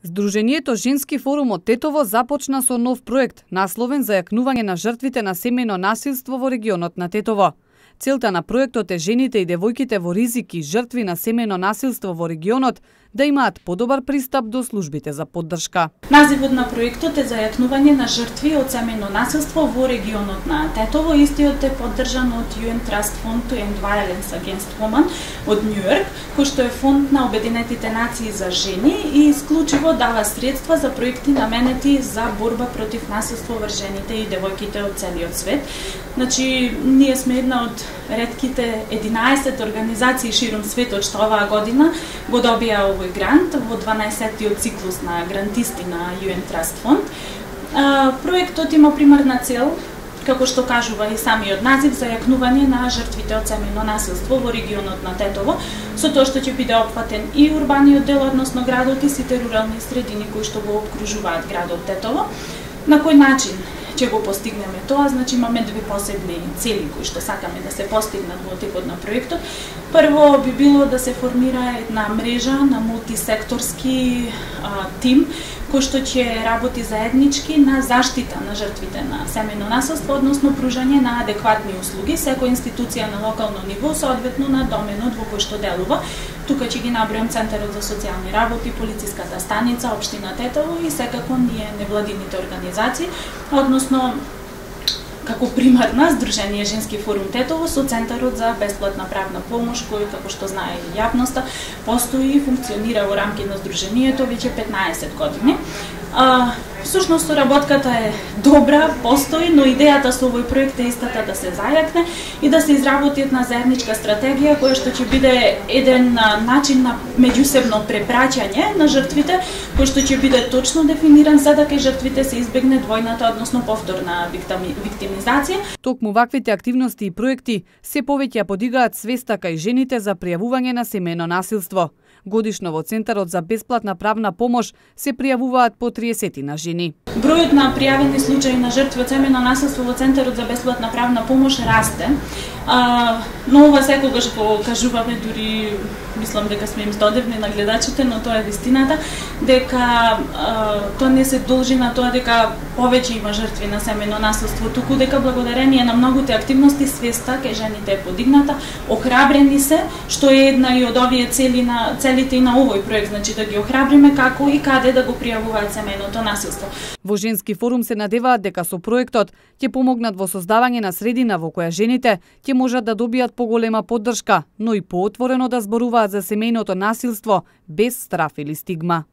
Сдруженијето Женски форум од Тетово започна со нов проект, насловен за јакнување на жртвите на семејно насилство во регионот на Тетово. Целта на проектот е жените и девојките во ризик и жртви на семејно насилство во регионот да имаат подобар пристап до службите за поддршка. Називот на проектот е за јакнување на жртви од семејно насилство во регионот на Тетово. Истиот е поддржан од UN Trust Fund to End Violence Against Women од Њујорк, кој што е фонд на Обединетите нации за жени и исклучиво дава средства за проекти наменети за борба против насилство врз жените и девојките од целиот свет. Значи, ние сме една од ретките 11 организации широм светот што оваа година го добија овој грант во 12-тиот циклус на грантисти на UN Trust Fund. Проектот има примарна цел, како што кажува и самиот назив, за јакнување на жртвите од семејно насилство во регионот на Тетово, со тоа што ќе биде опфатен и урбаниот дел, односно градот и сите рурални средини кои што го обкружуваат градот Тетово. На кој начин ќе го постигнеме тоа? Значи имаме две посебни цели кои што сакаме да се постигнат во текот на проектот. Прво би било да се формира една мрежа на мултисекторски тим кој што ќе работи заеднички на заштита на жртвите на семејно насилство, односно пружање на адекватни услуги, секоја институција на локално ниво соодветно на доменот во кој што делува. Тука ќе ги набројам Центарот за социјални работи, полициската станица, општина Тетово и секако ние невладините организации, односно како примарна Сдружение Женски форум Тетово со Центарот за бесплатна правна помош, кој, како што знае и јавноста, постои и функционира во рамки на Сдруженијето веќе 15 години. Всушност, соработката е добра, постои, но идејата со овој проект е истата да се зајакне и да се изработи една заедничка стратегија која што ќе биде еден начин на меѓусебно препраќање на жртвите, кој што ќе биде точно дефиниран за да кај жртвите се избегне двојната, односно повторна виктимизација. Токму ваквите активности и проекти се повеќе подигаат свеста кај жените за пријавување на семејно насилство. Годишно во Центарот за бесплатна правна помош се пријавуваат по 30 на жени. Бројот на пријавени случаи на жртви од семејно насилство во Центарот за бесплатна правна помош расте. Но ова секогаш го кажуваме, дури мислам дека сме им здодевни на гледачите, но тоа е вистината, дека тоа не се должи на тоа дека повеќе има жртви на семејно насилство, туку дека благодарение на многуте активности свеста кај жените е подигната, охрабрени се, што е една и од овие целите и на овој проект, значи да ги охрабриме како и каде да го пријавуваат семејното насилство. Во Женски форум се надеваат дека со проектот ќе помогнат во создавање на средина во која жените ќе можат да добијат поголема поддршка, но и поотворено да зборуваат за семејното насилство без страф или стигма.